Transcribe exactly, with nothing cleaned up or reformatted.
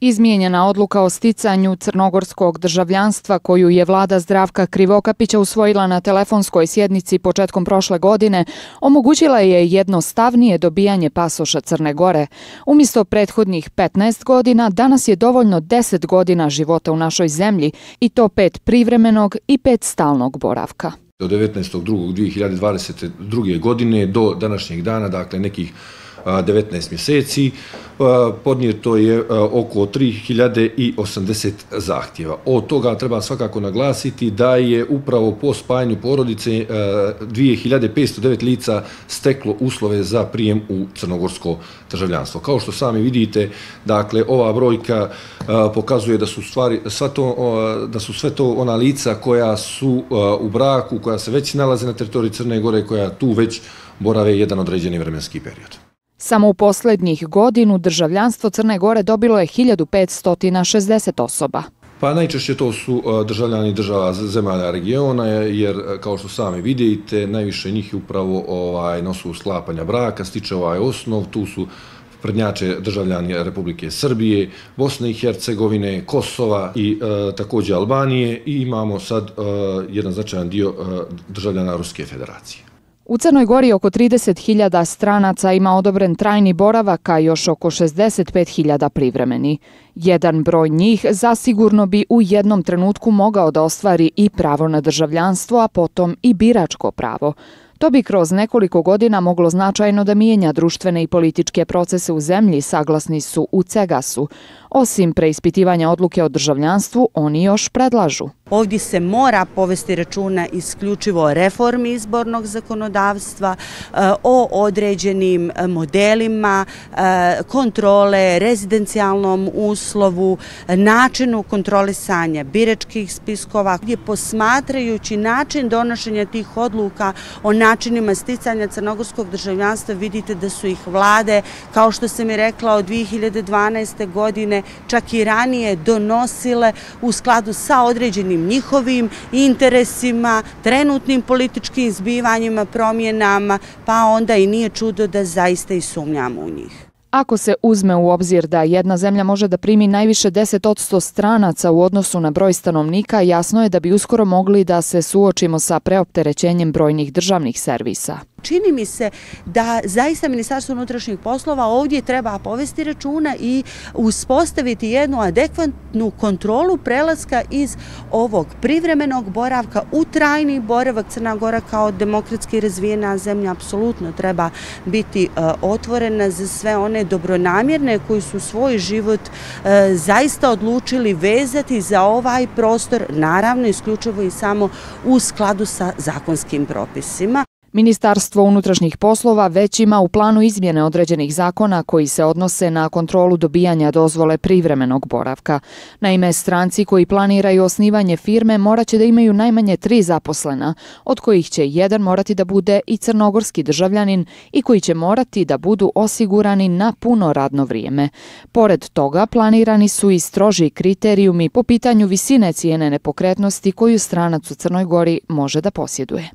Izmijenjena odluka o sticanju crnogorskog državljanstva koju je vlada Zdravka Krivokapića usvojila na telefonskoj sjednici početkom prošle godine omogućila je jednostavnije dobijanje pasoša Crne Gore. Umjesto prethodnih petnaest godina, danas je dovoljno deset godina života u našoj zemlji i to pet privremenog i pet stalnog boravka. Od devetnaestog drugog dvije hiljade dvadeset druge. godine do današnjeg dana, dakle nekih devetnaest mjeseci, podnijeto je oko tri hiljade osamdeset zahtjeva. Od toga treba svakako naglasiti da je upravo po spajanju porodice dvije hiljade petsto devet lica steklo uslove za prijem u crnogorsko državljanstvo. Kao što sami vidite, dakle, ova brojka pokazuje da su stvari, sva to, da su sve to ona lica koja su u braku, koja se već nalaze na teritoriji Crne Gore, koja tu već borave jedan određeni vremenski period. Samo u posljednjih godinu državljanstvo Crne Gore dobilo je hiljadu petsto šezdeset osoba. Pa najčešće to su državljani država zemalja regiona, jer kao što sami vidite, najviše njih upravo ovaj, na osnovu sklapanja braka stiče ovaj osnov. Tu su prednjače državljani Republike Srbije, Bosne i Hercegovine, Kosova i e, također Albanije, i imamo sad e, jedan značajan dio e, državljana Ruske federacije. U Crnoj Gori oko trideset hiljada stranaca ima odobren trajni boravak, a još oko šezdeset pet hiljada privremeni. Jedan broj njih zasigurno bi u jednom trenutku mogao da ostvari i pravo na državljanstvo, a potom i biračko pravo. To bi kroz nekoliko godina moglo značajno da mijenja društvene i političke procese u zemlji, saglasni su u Cegasu. Osim preispitivanja odluke o državljanstvu, oni još predlažu. Ovdje se mora povesti računa isključivo o reformi izbornog zakonodavstva, o određenim modelima kontrole, rezidencijalnom uslovu, načinu kontrolisanja biračkih spiskova, gdje posmatrajući način donošenja tih odluka o načinima sticanja crnogorskog državljanstva vidite da su ih vlade, kao što sam i rekla, od dvije hiljade dvanaeste. godine, čak i ranije donosile u skladu sa određenim njihovim interesima, trenutnim političkim zbivanjima, promjenama, pa onda i nije čudo da zaista i sumnjamo u njih. Ako se uzme u obzir da jedna zemlja može da primi najviše deset posto stranaca u odnosu na broj stanovnika, jasno je da bi uskoro mogli da se suočimo sa preopterećenjem brojnih državnih servisa. Čini mi se da zaista Ministarstvo unutrašnjih poslova ovdje treba povesti računa i uspostaviti jednu adekvatnu kontrolu prelaska iz ovog privremenog boravka u trajni boravak. Crna Gora kao demokratski razvijena zemlja apsolutno treba biti otvorena za sve one dobronamjerne koji su svoj život zaista odlučili vezati za ovaj prostor, naravno isključivo i samo u skladu sa zakonskim propisima. Ministarstvo unutrašnjih poslova već ima u planu izmjene određenih zakona koji se odnose na kontrolu dobijanja dozvole privremenog boravka. Naime, stranci koji planiraju osnivanje firme moraće da imaju najmanje tri zaposlena, od kojih će jedan morati da bude i crnogorski državljanin i koji će morati da budu osigurani na puno radno vrijeme. Pored toga, planirani su i stroži kriterijumi po pitanju visine cijene nepokretnosti koju stranac u Crnoj Gori može da posjeduje.